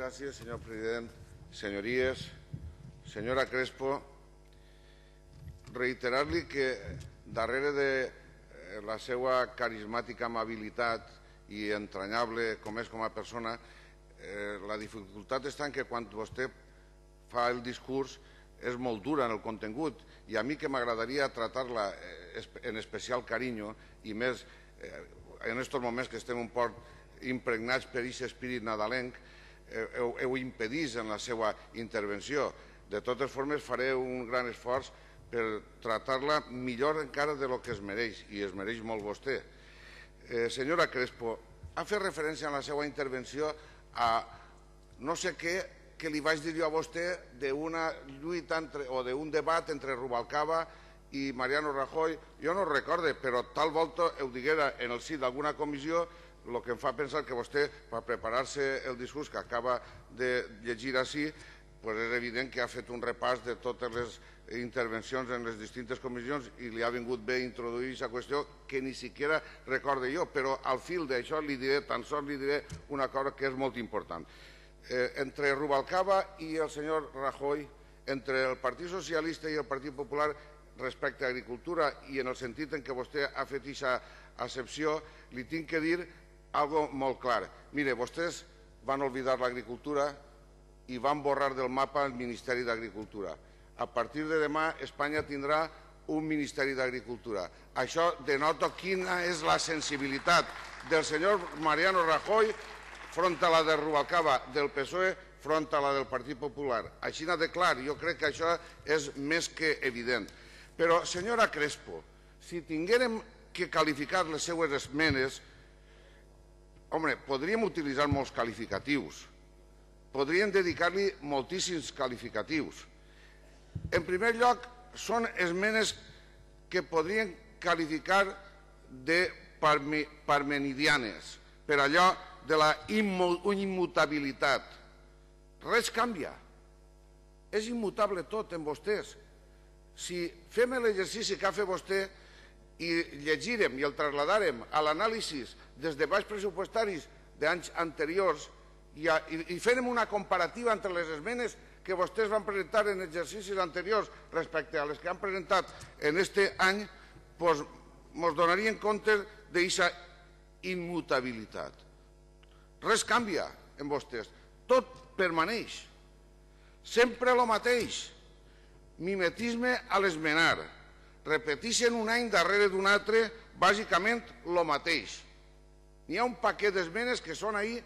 Gràcies, senyor president. Senyories, senyora Crespo, reiterar-li que darrere de la seva carismàtica amabilitat i entranyable com és com a persona, la dificultat està en que quan vostè fa el discurs és molt dura en el contingut, i a mi que m'agradaria tractar-la en especial carinyo, i més en aquests moments que estem un poc impregnats per aquest espírit nadalenc, ho impedís en la seva intervenció. De totes formes, faré un gran esforç per tractar-la millor encara del que es mereix, i es mereix molt vostè. Senyora Crespo, ha fet referència en la seva intervenció a no sé què que li vaig dir jo a vostè d'una lluita o d'un debat entre Rubalcaba i Mariano Rajoy. Jo no ho recorde, però tal volta ho diguera en el si d'alguna comissió, el que em fa pensar que vostè, per preparar-se el discurs que acaba de llegir així, és evident que ha fet un repàs de totes les intervencions en les distintes comissions i li ha vingut bé introduir aquesta qüestió que ni siquiera recorde jo, però al fil d'això li diré, tan sols li diré una cosa que és molt important. Entre Rubalcaba i el senyor Rajoy, entre el Partit Socialista i el Partit Popular respecte a agricultura, i en el sentit en què vostè ha fet aquesta accepció, li tinc que dir algo molt clar. Mire, vostès van oblidar l'agricultura i van borrar del mapa el Ministeri d'Agricultura. A partir de demà Espanya tindrà un Ministeri d'Agricultura. Això denota quina és la sensibilitat del senyor Mariano Rajoy front a la de Rubalcaba del PSOE, front a la del Partit Popular. Així de clar, jo crec que això és més que evident. Però, senyora Crespo, si tinguérem que qualificar les seues esmenes, home, podríem utilitzar molts qualificatius, podríem dedicar-li moltíssims qualificatius. En primer lloc, són esmenes que podrien qualificar de parmenidianes, per allò de la immutabilitat. Res canvia. És immutable tot en vostès. Si fem l'exercici que ha fet vostè i llegirem i el trasladarem a l'anàlisi dels debats pressupostaris d'anys anteriors i farem una comparativa entre les esmenes que vostès van presentar en exercicis anteriors respecte a les que han presentat en aquest any, doncs ens donarien compte d'aquesta immutabilitat. Res canvia en vostès, tot permaneix, sempre el mateix, mimetisme a l'esmenar, repeteixen un any darrere d'un altre bàsicament el mateix. N'hi ha un paquet d'esmenes que són ahí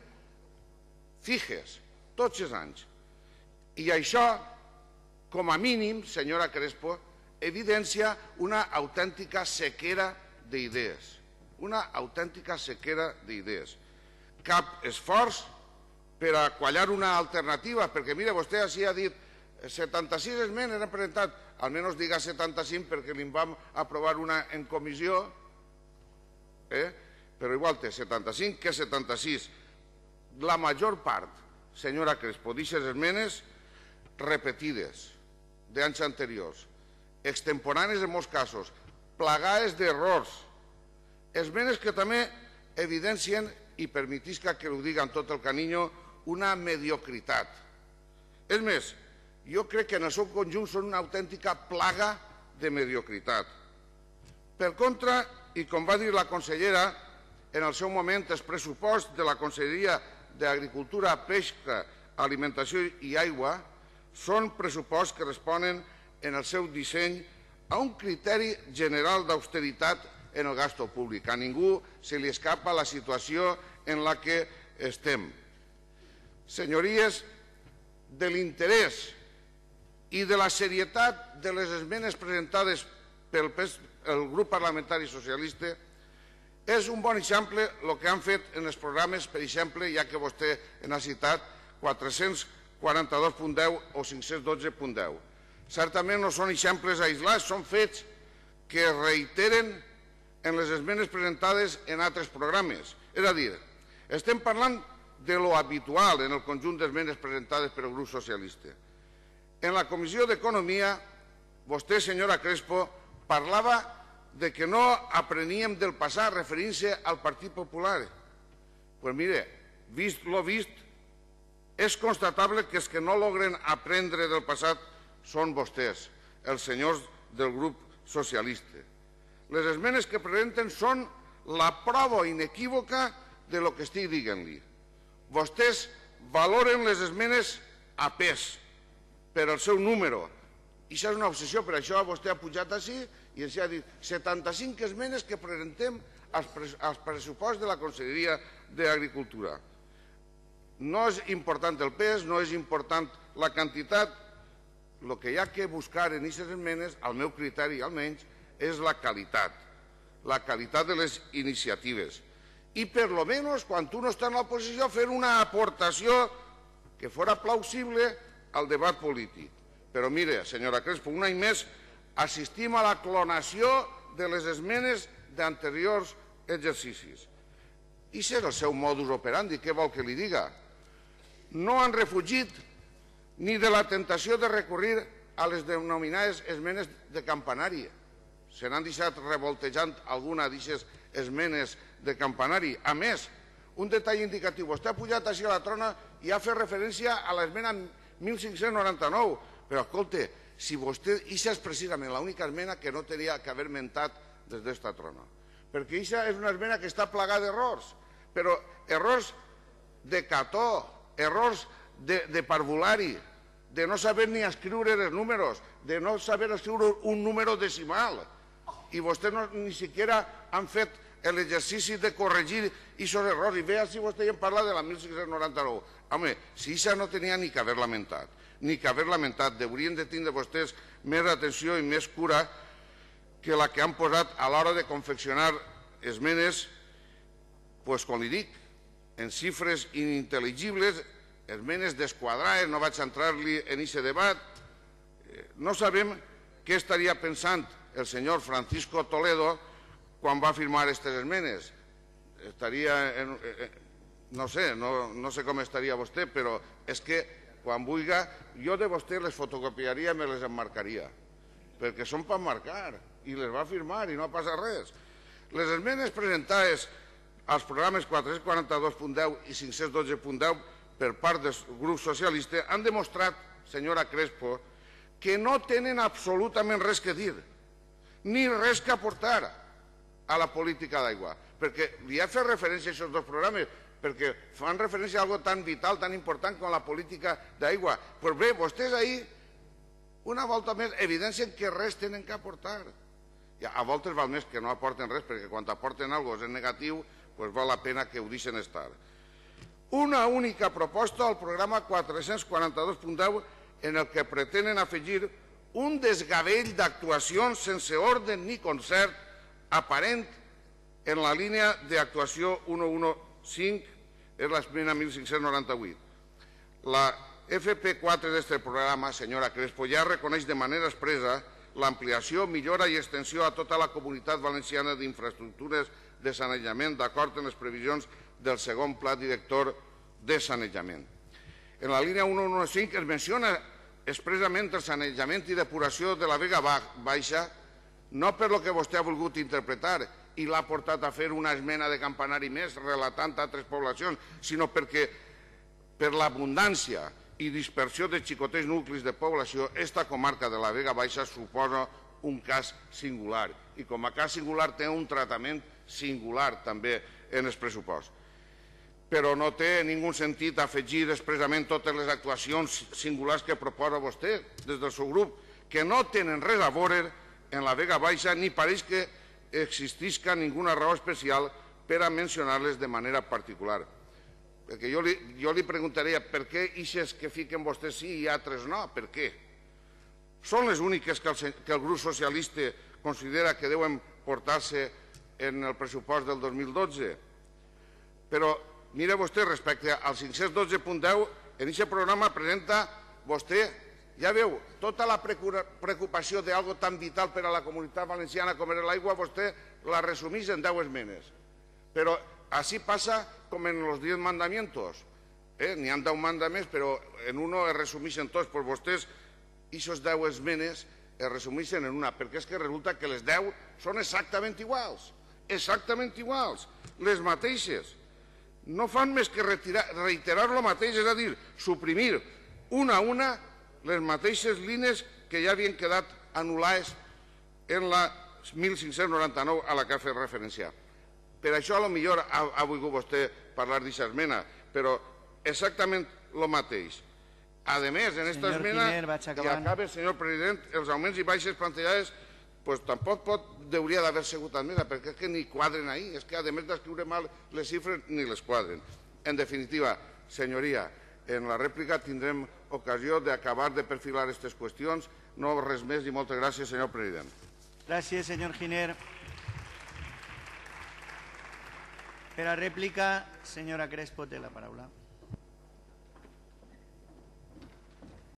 fixes, tots els anys. I això, com a mínim, senyora Crespo, evidencia una autèntica sequera d'idees. Una autèntica sequera d'idees. Cap esforç per a quallar una alternativa, perquè, mira, vostè així ha dit 76 esmenes han presentat, almenys diga 75 perquè li vam aprovar una en comissió, però igual té 75 que 76. La major part, senyora Crespo, d'aquestes esmenes repetides d'anys anteriors, extemporànies en molts casos, plagades d'errors, esmenes que també evidencien, i permetisca que ho diga amb tot el carinyo, una mediocritat. És més, jo crec que en el seu conjunt són una autèntica plaga de mediocritat. Per contra, i com va dir la consellera, en el seu moment el pressupost de la Conselleria d'Agricultura, Pesca, Alimentació i Aigua són pressuposts que responen en el seu disseny a un criteri general d'austeritat en el gasto públic. A ningú se li escapa la situació en la que estem. Senyories, de l'interès i de la serietat de les esmenes presentades pel grup parlamentari socialista és un bon exemple el que han fet en els programes, per exemple, ja que vostè n'ha citat 442.10 o 512.10. Certament no són exemples aislats, són fets que es reiteren en les esmenes presentades en altres programes. És a dir, estem parlant de lo habitual en el conjunt d'esmenes presentades pel grup socialista. En la Comissió d'Economia, vostè, senyora Crespo, parlava de que no apreníem del passat referint-se al Partit Popular. Doncs mire, vist lo vist, és constatable que els que no logren aprendre del passat són vostès, els senyors del grup socialista. Les esmenes que presenten són la prova inequívoca de lo que estic dient-li. Vostès valoren les esmenes a pes, per al seu número. I això és una obsessió, per això vostè ha pujat així i ens ha dit 75 esmenes que presentem als pressupost de la Conselleria d'Agricultura. No és important el pes, no és important la quantitat. El que hi ha que buscar en aquestes esmenes, al meu criteri almenys, és la qualitat de les iniciatives. I per lo menos, quan tu no estàs en l'oposició, fer una aportació que fora plausible al debat polític. Però mire, senyora Crespo, un any més assistim a la clonació de les esmenes d'anteriors exercicis. I és el seu modus operandi, què vol que li diga? No han refugit ni de la tentació de recurrir a les denominades esmenes de campanari. Se n'han deixat revoltejant alguna d'aquestes esmenes de campanari. A més, un detall indicatiu, vostè ha pujat així a la trona i ha fet referència a l'esmena 1599, però escolta, si vostè, això és precisament l'única esmena que no tenia que haver mentat des d'esta trona, perquè això és una esmena que està plagada d'errors, però errors de cató, errors de parvulari, de no saber ni escriure els números, de no saber escriure un número decimal, i vostès ni siquiera han fet l'exercici de corregir aquests errors, i vea si vostè ja en parla de la 1599. Home, si això no tenia ni que haver lamentat, deurien de tindre vostès més atenció i més cura que la que han posat a l'hora de confeccionar esmenes, doncs com li dic, en xifres inintel·ligibles, esmenes desquadrades, no vaig entrar-li en aquest debat. No sabem què estaria pensant el senyor Francisco Toledo quan va firmar aquestes esmenes. No sé com estaria vostè, però és que quan vulgui, jo de vostè les fotocopiaria i me les emmarcaria, perquè són per marcar, i les va firmar i no ha passat res. Les esmenes presentades als programes 442.10 i 512.10 per part del grup socialista han demostrat, senyora Crespo, que no tenen absolutament res que dir, ni res que aportar a la política d'aigua. Perquè li ha fet referència a aquests dos programes, perquè fan referència a algo tan vital, tan important com la política d'aigua. Doncs bé, vostès ahir, una volta més, evidencien que res tenen que aportar. A voltes val més que no aporten res, perquè quan aporten alguna cosa en negatiu, doncs val la pena que ho deixen estar. Una única proposta al programa 442.10 en el que pretenen afegir un desgavell d'actuacions sense ordre ni concert aparent en la línia d'actuació 115, és l'esmena 1598. La FP4 d'aquest programa, senyora Crespo, ja reconeix de manera expressa l'ampliació, millora i extensió a tota la comunitat valenciana d'infraestructures de sanejament d'acord amb les previsions del segon pla director de sanejament. En la línia 115 es menciona expressament el sanejament i depuració de la Vega Baixa, no per lo que vostè ha volgut interpretar i l'ha portat a fer una esmena de campanari més relatant altres poblacions, sinó perquè per l'abundància i dispersió de xicotets nuclis de població, esta comarca de la Vega Baixa suposa un cas singular i com a cas singular té un tractament singular també en el pressupost. Però no té ningú sentit afegir expressament totes les actuacions singulars que proposa vostè des del seu grup, que no tenen res a veure en la Vega Baixa ni pareix que existisca ninguna raó especial per a mencionar-les de manera particular. Perquè jo li preguntaria per què ixes que fiquen vostès sí i altres no, per què? Són les úniques que el grup socialista considera que deuen portar-se en el pressupost del 2012. Però mira vostè, respecte al 512.10, en aquest programa presenta vostè, ja veu, tota la preocupació d'algo tan vital per a la comunitat valenciana com era l'aigua, vostè la resumís en 10 esmenes. Però així passa com en els 10 mandamientos. N'hi ha 10 mandaments, però en uno es resumeixen tots. Doncs vostès, aquestes 10 esmenes, es resumeixen en una, perquè és que resulta que les 10 són exactament iguals, les mateixes. no fan més que reiterar el mateix, és a dir, suprimir una a una les mateixes línies que ja havien quedat anul·lades en la 1599 a la que ha fet referència. Per això potser ha volgut vostè parlar d'aquesta esmena, però exactament el mateix. A més, en aquesta esmena, i acaba, senyor president, els augments i baixes plantejades tampoc hauria d'haver sigut admesa, perquè és que ni quadren ahí, és que a més d'escriure mal les xifres ni les quadren. En definitiva, senyoria, en la rèplica tindrem ocasió d'acabar de perfilar aquestes qüestions. No res més i moltes gràcies, senyor president. Gràcies, senyor Giner. Per a rèplica, senyora Crespo té la paraula.